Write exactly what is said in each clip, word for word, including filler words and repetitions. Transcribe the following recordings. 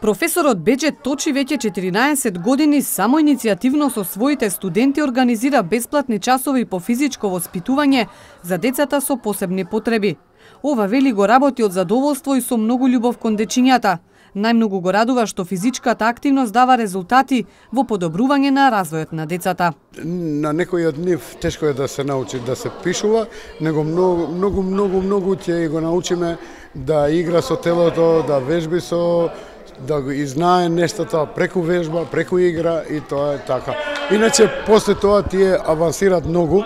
Професорот Беџет Точи веќе четиринаесет години самоиницијативно со своите студенти организира бесплатни часови по физичко воспитување за децата со посебни потреби. Ова, вели, го работи од задоволство и со многу љубов кон дечињата. Најмногу го радува што физичката активност дава резултати во подобрување на развојот на децата. На некој од нив тешко е да се научи да се пишува, него многу многу многу многу ќе го научиме да игра со телото, да вежби со да го изнае нештата преку вежба, преку игра, и тоа е така. Иначе после тоа тие авансират многу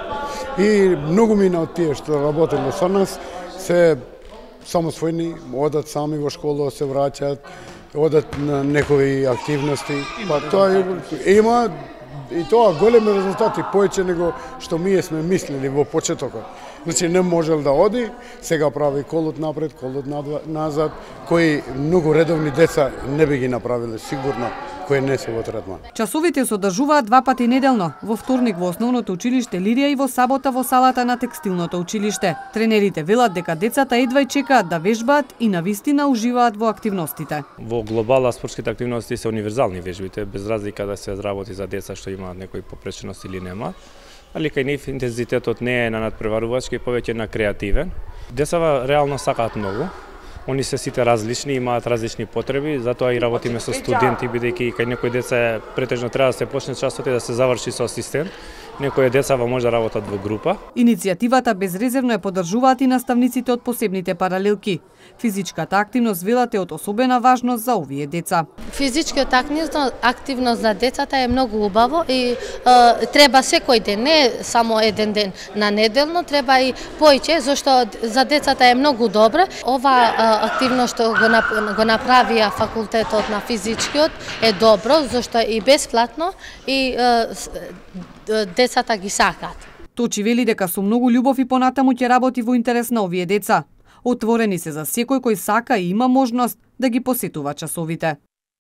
и многу мина од тие што работеле со нас се самосвојни, одат сами во школа, се враќаат, одат на некои активности. Па тоа има и тоа големи резултати, повеќе него што ние сме мислили во почетокот. Значи не можел да оди, сега прави колот напред, колот назад, кои многу редовни деца не би ги направиле сигурно, кои не се во третман. Часовите се одржуваат два пати неделно, во вторник во основното училиште Лирија и во сабота во салата на текстилното училиште. Тренерите велат дека децата едва и чекаат да вежбаат и навистина уживаат во активностите. Во глобала спортските активности се универзални вежбите, без разлика да се работи за деца што имаат некои попреченост или нема. Али кај нив интензитетот не е на надпреварувачки, повеќе на креативен. Децава реално сакаат многу. Они се сите различни, имаат различни потреби, затоа и работиме со студенти, бидејќи кај некои деца претежно треба да се почне часот и да се заврши со асистент. Некои децава може да работат во група. Иницијативата безрезервно ја поддржуваат и наставниците од посебните паралелки. Физичката активност, велат, е од особена важност за овие деца. Физичката активност за децата е многу убаво и е, треба секој ден, не само еден ден на неделно, треба и поиќе, зашто за децата е многу добро. Ова е, активност што го, го направија факултетот на физичкиот е добро, зашто и бесплатно и е, децата ги сакаат. Точи вели дека со многу љубов и понатаму ќе работи во интерес на овие деца. Отворени се за секој кој сака и има можност да ги посетува часовите.